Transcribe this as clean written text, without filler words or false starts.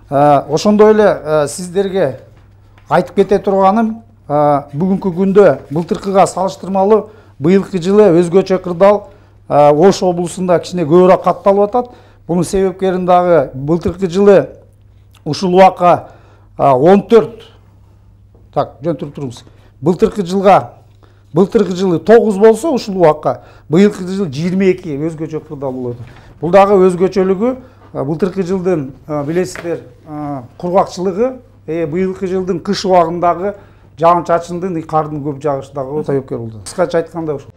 Ошондой эле сиздерге айтып кете турганым, бүгүнкү күндө былтыркыга салыштырмалуу быйылкы жылы өзгөчө кырдаал Ош облусунда кичине көбүрөөк катталып атат. Бунун себепкерин дагы былтыркы жылы ушул убакка 14 жөнтүрүп туруңуз. Былтыркы жылы 9 болсо ушул убакка быйылкы жыл 22 өзгөчө кырдаал болот. Бул дагы өзгөчөлүгү былтыркы жылдын билесиздер кургакчылыгы, быйылкы жылдын кыш убагындагы жаан чачындын, кардын көп жагышы дагы себепкер болду. Кыскача айтканда ушул.